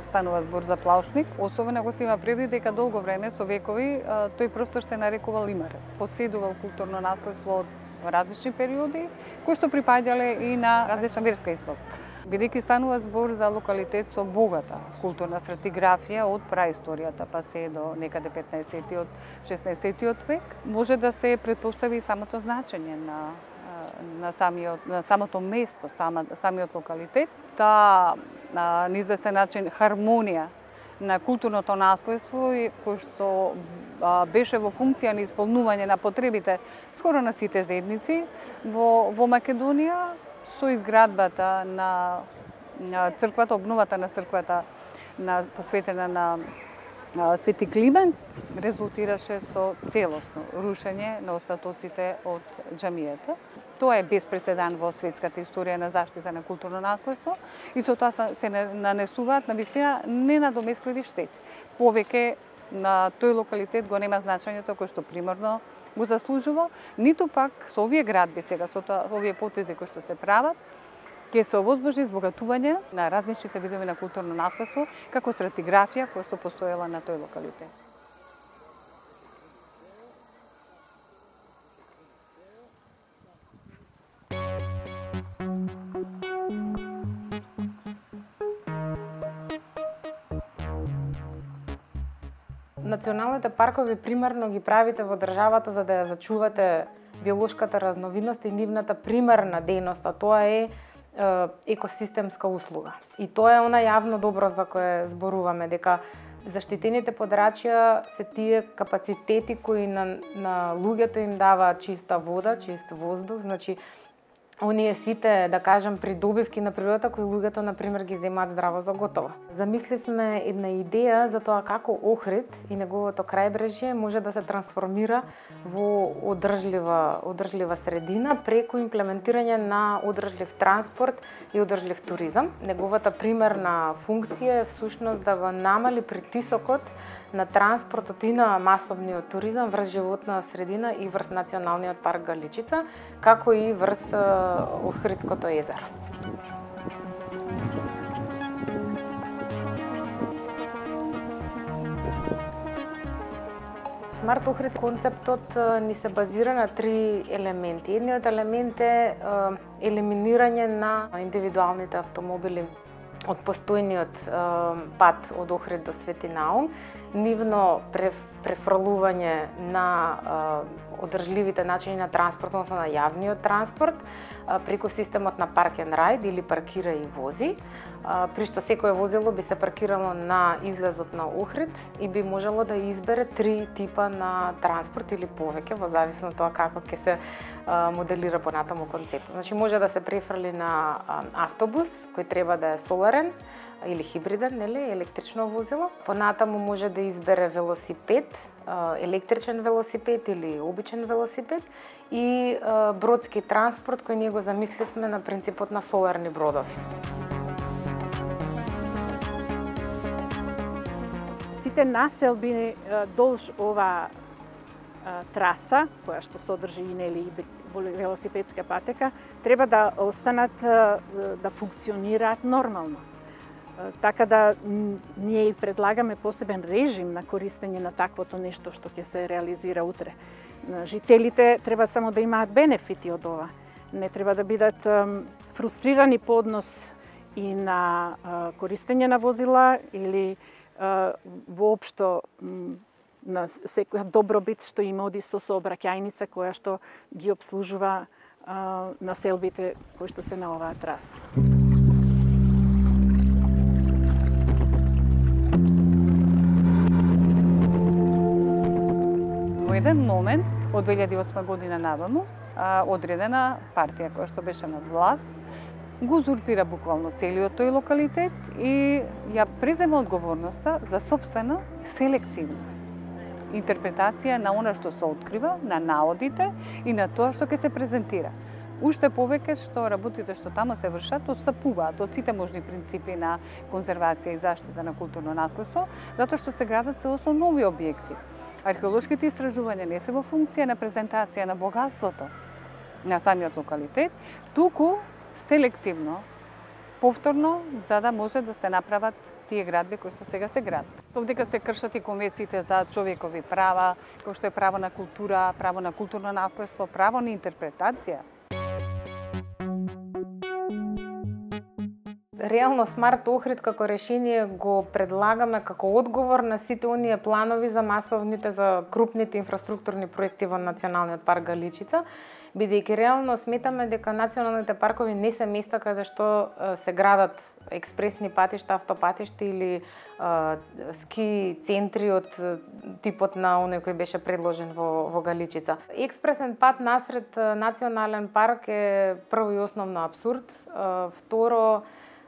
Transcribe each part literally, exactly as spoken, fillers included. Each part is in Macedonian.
Станува збор за Плаушник, особено ако се има предвид дека долго време со векови тој простор се нарекувал Имаре. Поседувал културно наследство од различни периоди, кои што припаѓале и на различна верска исповед. Бидејќи станува збор за локалитет со богата културна стратиграфија од праисторијата па се до некаде петнаесеттиот, шеснаесеттиот век, може да се претпостави самото значење на на самиот на самото место, сама, самиот локалитет, таа на неизвестен начин хармонија на културното наследство и кој што а, беше во функција на исполнување на потребите скоро на сите заедници во во Македонија со изградбата на, на црквата, обновата на црквата на посветена на Свети Климент резултираше со целосно рушење на остатоците од џамијата. Тоа е без преседан во светската историја на заштита на културно наследство и со тоа се нанесуваат на вистина ненадомесливи штети. Повеќе на тој локалитет го нема значењето кој што примерно го заслужувал, ниту пак со овие градби сега, со тоа, овие потези кои што се прават, ќе се овозможи избогатување на различните видови на културно наследство како стратиграфија која што постоела на тој локалитет. Националните паркови примерно ги правите во државата за да ја зачувате биолошката разновидност и нивната примерна дејност, а тоа е екосистемска услуга. И тоа е она јавно добро за кое зборуваме, дека заштитените подрачја се тие капацитети кои на, на луѓето им даваат чиста вода, чист воздух, значи оние сите, да кажем, придобивки на природата кои луѓето, например, ги земаат здраво за готово. Замисливме една идеја за тоа како Охрид и неговото крајбрежје може да се трансформира во одржлива, одржлива средина преку имплементирање на одржлив транспорт и одржлив туризам. Неговата примерна функција е всушност да го намали притисокот на транспортот и на масовниот туризам врз животна средина и врз Националниот парк Галичица, како и врз Охридското езеро. Смарт Охрид концептот ни се базира на три елементи. Едниот елемент е елиминирање на индивидуалните автомобили од постојниот пат од Охрид до Свети Наум, нивно префрлување на одржливите начини на транспорт, односно на јавниот транспорт, преку системот на Park and Ride или паркира и вози, при што секое возило би се паркирало на излезот на Охрид и би можело да избере три типа на транспорт или повеќе, во зависност од тоа како ќе се моделира понатаму концептот. Значи може да се префрли на автобус кој треба да е соларен или хибриден, нели, електрично возило. Понатаму може да избере велосипед, електричен велосипед или обичен велосипед и бродски транспорт кој ние го замисливме на принципот на соларни бродови. Сите населби долж ова траса, која што содржи нели велосипедска патека, треба да останат да функционираат нормално. Така да ние и предлагаме посебен режим на користење на таквото нешто што ќе се реализира утре. Жителите треба само да имаат бенефити од ова. Не треба да бидат фрустрирани по однос и на користење на возила или воопшто на секоја добробит што им оди со сообраќајница која што ги обслужува населбите кои што се на оваа траса. Во еден момент, од две илјади и осма година наваму, одредена партија која што беше на власт, го узурпира буквално целиот тој локалитет и ја презема одговорноста за сопствена селективна интерпретација на она што се открива, на наодите и на тоа што ќе се презентира. Уште повеќе што работите што таму се вршат отстапуваат од сите можни принципи на конзервација и заштита на културно наследство, затоа што се градат целосно нови објекти. Археолошките истражувања не се во функција на презентација на богатството на самиот локалитет, туку селективно, повторно, за да може да се направат тие градби кои што сега се градат. Овдека се кршат и конвенциите за човекови права, кои што е право на култура, право на културно наследство, право на интерпретација. Реално Смарт Охрид како решение го предлагаме како одговор на сите оние планови за масовните, за крупните инфраструктурни проекти во Националниот парк Галичица, бидејќи реално сметаме дека националните паркови не се места каде што се градат експресни патишта, автопатишта или а, ски центри од типот на оној кој беше предложен во, во Галичица. Експресен пат насред национален парк е прво и основно абсурд. А, второ,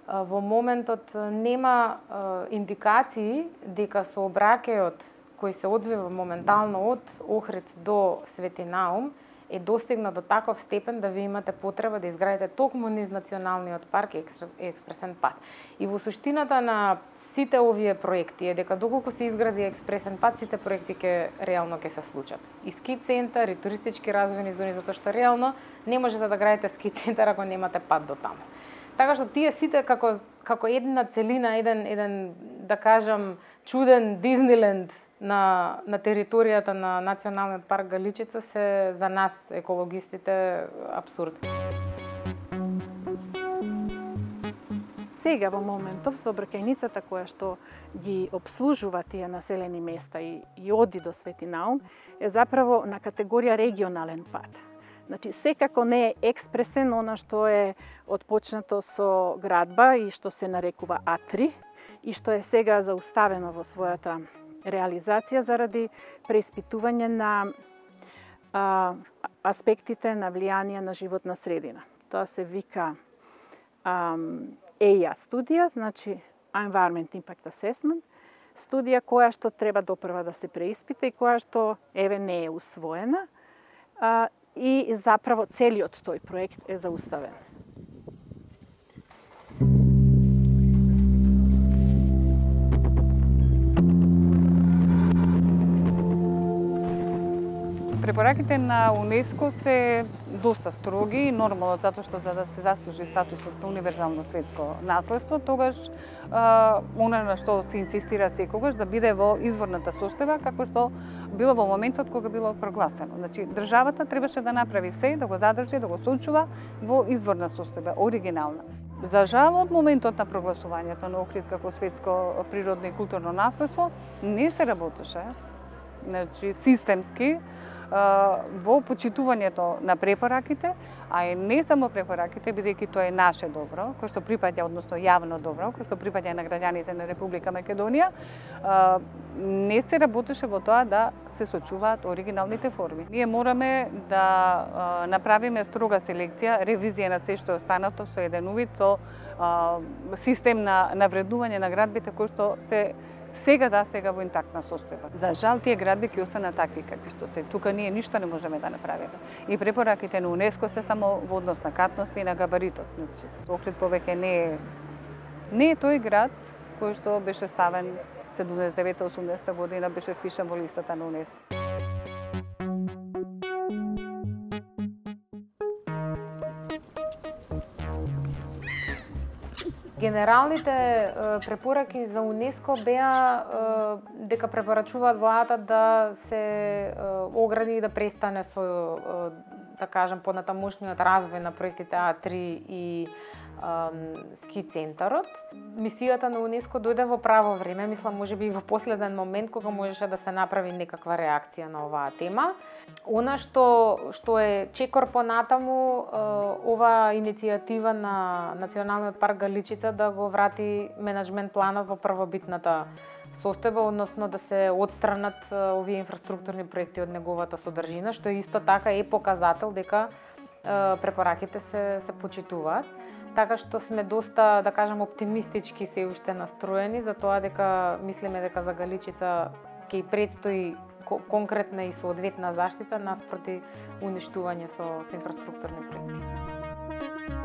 а, во моментот нема а, индикации дека сообраќајот кој се одвива моментално од Охрид до Свети Наум е достигна до таков степен да ви имате потреба да изградите токму низ националниот парк и експресен пат. И во суштината на сите овие проекти е дека доколку се изгради експресен пат, сите проекти ќе реално ќе се случат. И ски центар, и туристички развојни зони, затоа што реално не можете да градите ски центар ако немате пат до таму. Така што тие сите како како една целина, еден еден да кажам чуден Дизниленд на, на територијата на Националниот парк Галичица се за нас, екологистите, абсурд. Сега во моментов сообраќајницата која што ги обслужува тие населени места и, и оди до Свети Наум е заправо на категорија регионален пат. Значи, секако не е експресен она што е отпочнато со градба и што се нарекува А три и што е сега зауставено во својата реализација заради преиспитување на а, аспектите на влијание на животна средина. Тоа се вика а, Е И А студија, значи Environment Impact Assessment, студија која што треба допрва да се преиспита и која што еве не е усвоена а, и заправо целиот тој проект е зауставен. Препораките на УНЕСКО се доста строги и нормално, затоа што за да се заслужи статусот на универзално светско наследство, тогаш а, она на што се инсистира секогаш да биде во изворната состојба, како што било во моментот кога било прогласено. Значи, државата требаше да направи се, да го задржи, да го сочува во изворна состојба, оригинална. За жал, од моментот на прогласувањето на Охрид како светско природно и културно наследство, не се работеше, значи, системски, во почитувањето на препораките, а и не само препораките, бидејќи тоа е наше добро, кој што припаѓа, односно јавно добро, кој што припаѓа на граѓаните на Република Македонија, не се работеше во тоа да се сочуваат оригиналните форми. Ние мораме да направиме строга селекција, ревизија на се што е останато со еден увид, со систем на навредување на градбите кои што се сега за сега во интактна состојба. За жал, тие градби ќе останат такви какви што се. Тука ние ништо не можеме да направиме. И препораките на УНЕСКО се само во однос на катност и на габаритот. Охрид повеќе не е не е тој град кој што беше ставен седумдесет и девета осумдесета година, беше впишан во листата на УНЕСКО. Генералните препораки за УНЕСКО беа дека препорачуваат владата да се огради и да престане со, да кажем, понатамошниот развој на проектите А три и ски центарот. Мисијата на УНЕСКО дојде во право време, мислам можеби и во последен момент кога можеше да се направи некаква реакција на оваа тема. Она што што е чекор понатаму, ова иницијатива на Националниот парк Галичица да го врати менаџмент планот во првобитната состојба, односно да се отстранат овие инфраструктурни проекти од неговата содржина, што исто така е показател дека препораките се се почитуваат. Така што сме доста, да кажем, оптимистички се уште настроени за тоа дека мислиме дека за Галичица ќе предстои конкретна и соодветна заштита наспроти уништување со, со инфраструктурни проекти.